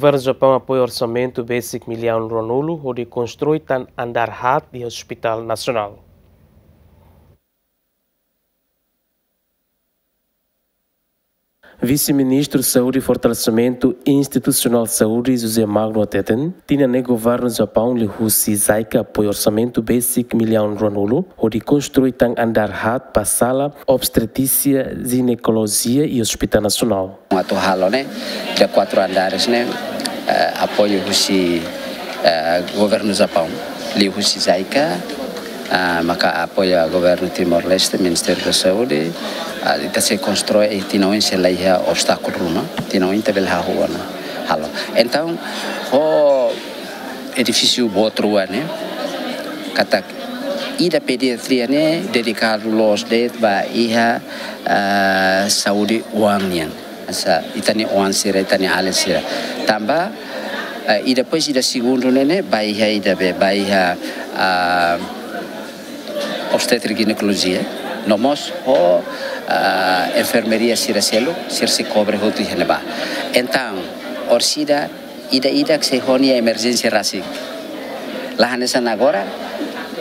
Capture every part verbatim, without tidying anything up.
Governu Japaun apoia orsamentu besik millaun ruanulu hodi konstrui tan andár haat iha Hospitál Nasionál. Vise-Ministru Saúde Fortalesimentu Institusionál Saúde José Magno hateten, tinan ne'e Governu Japaun liuhusi JICA apoia orsamentu besik millaun ruanulu hodi konstrui tan andár haat ba sala obstetrísia jinekolojia iha Hospitál Nasionál. Atu halo ne'e, de quatro andares ne'e, eh, apoiu husi, eh, Governu Japaun, liuhusi JICA, ah, maka apoia Governu Timor-Leste, Ministériu da Saúde, ah, ita sei konstrui, tinan oin sei la iha obstákulu ruma, tinan oin ita bele hahú ona halo. Entaun, ho edifísiu boot rua ne'e, katak ida pediatria ne'e dedikadu loos de'it ba iha, ah, saúde oan nian. Hanesan ita-nia oan sira, ita-nia alin sira. Tanba, eh, i depois ida segundu ne'e ne'e, ba iha ida be, ba iha, ah, obstétrica e ginecolojia. No mós ho, ah, enfermaria sira seluk, sira sei kobre hotu iha ne'ebá. Entaun, orsida ida-idak sei ho nia emerjénsia rasik. La hanesan agora,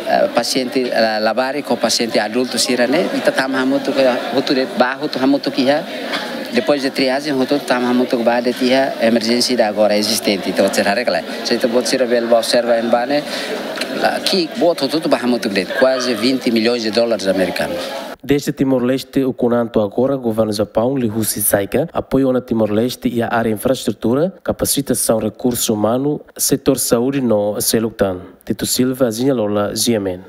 eh, pasiente, eh, labarik ho pasiente adultu sira ne'e, ita tama hamutuk, hotu de'it ba hotu hamutuk iha, depois de triagem, hotu tama hamutuk ba de'it iha emerjénsia ida agora ezistente. Entaun, será rekla. Se ita-boot sira bele ba observa iha ne'ebá ne'e, la, ki'ik boot hotu ba hamutuk de'it, kuaze vinte milhões de dólares americanos. Dezde Timor-Leste ukun an to'o agora, Governu Japaun liuhusi JICA apoia ona Timor-Leste iha área infraestrutura, kapasitasaun rekursu umanu, setór saúde no seluk tan. Tito Silva, Zinha Lola, G M N.